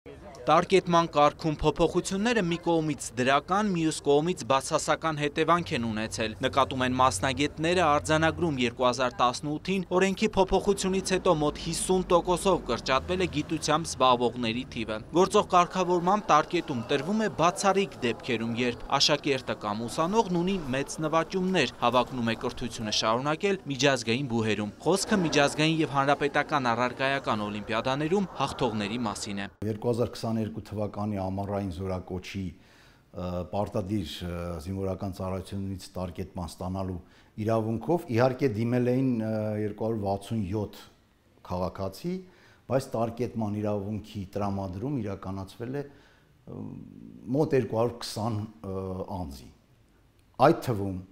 Տարկետման կարգում փոփոխությունները մի կողմից դրական, մյուս կողմից բացասական հետևանք են ունեցել։ Նկատում են մասնագետները արձանագրում 2018-ին օրենքի փոփոխությունից հետո մոտ 50%-ով կրճատվել է գիտությամբ զբաղվողների թիվը։ Գործող կարգավորմամբ տարկետում տրվում է բացառիկ դեպքերում, երբ աշակերտը կամ ուսանողն ունի մեծ նվաճումներ, հավակնում է կրթությունը շարունակել միջազգային բուհերում։ Խոսքը միջազգային եւ հանրապետական առարկայական օլիմպիադաներում հաղթողների մասին է։ 2022 թվականի ամառային զորակոչի պարտադիր զինվորական ծառայությունից տարկետման ստանալու իրավունքով իհարկե դիմել էին 267 քաղաքացի, բայց տարկետման իրավունքի տրամադրում իրականացվել է մոտ 220 անձի, այդ թվում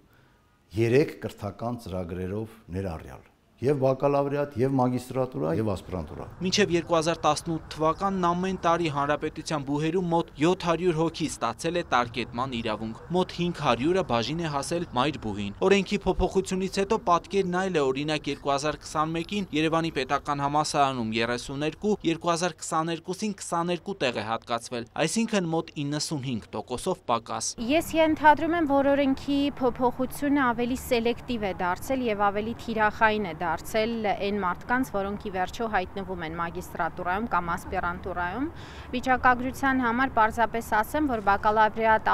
3 կրթական ծրագրերով ներառյալ եւ բակալավրիատ, եւ մագիստրատուրա, եւ ասպիրանտուրա։ Մինչև 2018 թվականն ամեն տարի հանրապետության բուհերում մոտ 700 հոգի ստացել է տարկետման իրավունք, մոտ 500-ը բաժին է հասել մայրբուհին։ Օրենքի փոփոխությունից հետո պատկերն այլ է, օրինակ 2021-ին Երևանի պետական համալսարանում 32, 2022-ին 22 տեղ է հատկացվել, այսինքն մոտ 95%-ով պակաս։ Ես ենթադրում եմ, որ օրենքի փոփոխությունը ավելի սելեկտիվ է դարձել եւ ավելի թիրախային է դարձել այն մարդկանց, որոնք ի վերջո հայտնվում են մագիստրատուրայում կամ ասպիրանտուրայում։ Վիճակագրության համար պարզապես ասեմ, որ բակալավրիատ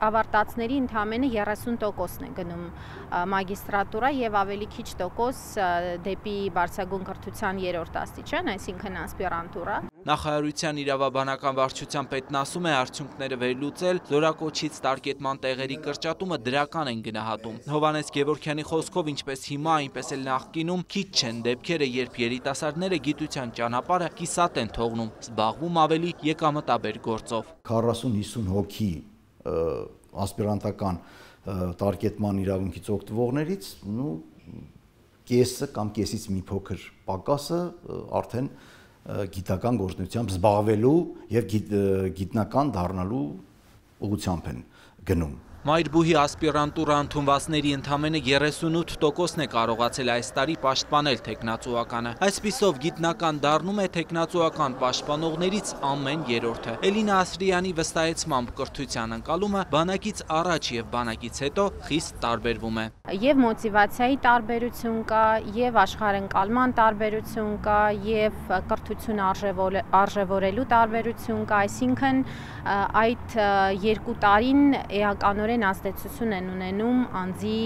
ավարտածների ընդամենը 30%-ն է գնում մագիստրատուրա եւ ավելի քիչ տոկոս դեպի բարձրագույն կրթության 3-րդ աստիճան, այսինքն ասպիրանտուրա։ Նախարարության իրավաբանական վարչության պետն ասում է, արդյունքները վերլուծել, զորակոչից տարկետման տեղերի կրճատումը դրական են գնահատում։ Հովհաննես Գևորգյանի խոսքով, ինչպես հիմա, այնպես էլ նախկինում քիչ չեն դեպքերը, երբ երիտասարդները գիտության ճանապարհը կիսատ են թողնում, զբաղվում ավելի եկամտաբեր գործով։ 40-50 հոգի ասպիրանտական տարկետման իրավունքից օգտվողներից, կեսը կամ կեսից մի փոքր պակասը արդեն գիտական գործունեությամբ զբաղվելու եւ գիտնական դառնալու ուղղությամբ են գնում։ Մայրբուհի ասպիրանտուրա ընդունվածների ընդամենը 38%-ն է կարողացել այս տարի պաշտպանել թեկնածուականը։ Այսպիսով գիտնական դառնում է թեկնածուական պաշտպանողներից ամեն երրորդը։ Էլինա Ասրյանի վստահեցմամբ կրթության ընկալումը բանակից առաջ եւ բանակից հետո խիստ տարբերվում է։ Եվ մոտիվացիայի տարբերություն կա, եւ աշխարհընկալման տարբերություն կա, եւ կրթություն արժևորելու տարբերություն կա, այսինքն այդ 2 տարին էականորեն ազդեցություն են ունենում անձի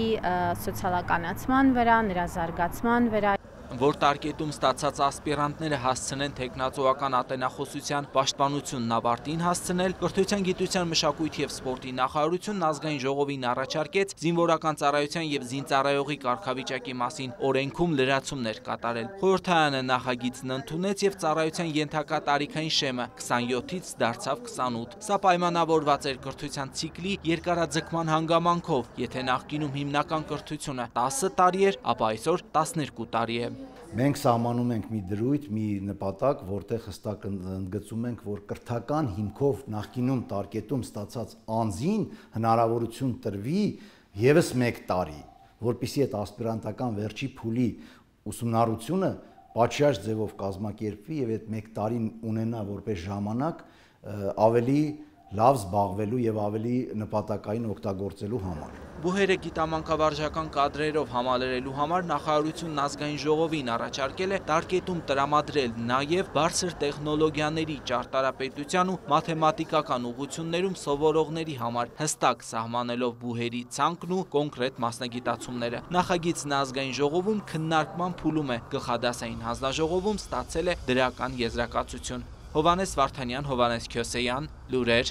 սոցիալականացման վրա, նրա զարգացման վրա։ Որ տարկետում ստացած ասպիրանտները հասցնեն թեկնածուական ատենախոսության պաշտպանությունն ավարտին հասցնել, Կրթության, գիտության, մշակույթի եւ սպորտի նախարարությունն ազգային ժողովին առաջարկեց զինվորական ծառայության եւ զինծառայողի կարգավիճակի մասին օրենքում լրացումներ կատարել։ Խորհրդարանը նախագիծն ընդունեց եւ ծառայության ենթակա տարիքային շեմը 27-ից դարձավ 28։ Սա պայմանավորված էր կրթության ցիկլի երկարաձգման հանգամանքով, եթե նախկինում հիմնական կրթությունը 10 տարի էր, ապա այսօր 12 տարի է։ Մենք սահմանում ենք մի դրույթ, մի նպատակ, որտեղ հստակ ընդգծում ենք, որ կրթական հիմքով նախկինում տարկետում ստացած անձին հնարավորություն տրվի եւս 1 տարի, որպեսզի այդ ասպիրանտական վերջի փուլի ուսումնառությունը պատշաճ ձևով կազմակերպվի եւ այդ 1 տարին ունենա որպես ժամանակ ավելի լավ զբաղվելու եւ ավելի նպատակային օգտագործելու համար։ Բուհերը գիտամանկավարժական կադրերով համալրելու համար նախարարությունն ազգային ժողովին առաջարկել է տարկետում տրամադրել նաև բարձր տեխնոլոգիաների ճարտարապետության ու մաթեմատիկական ուղղություններում սովորողների համար, հստակ սահմանելով բուհերի ցանկն ու կոնկրետ մասնագիտացումները։ Նախագիծն ազգային ժողովում քննարկման փուլում է, գլխադասային հանձնաժողովում ստացել է դրական եզրակացություն։ Հովհաննես Վարդանյան, Հովհաննես Քյոսեյան, լուրեր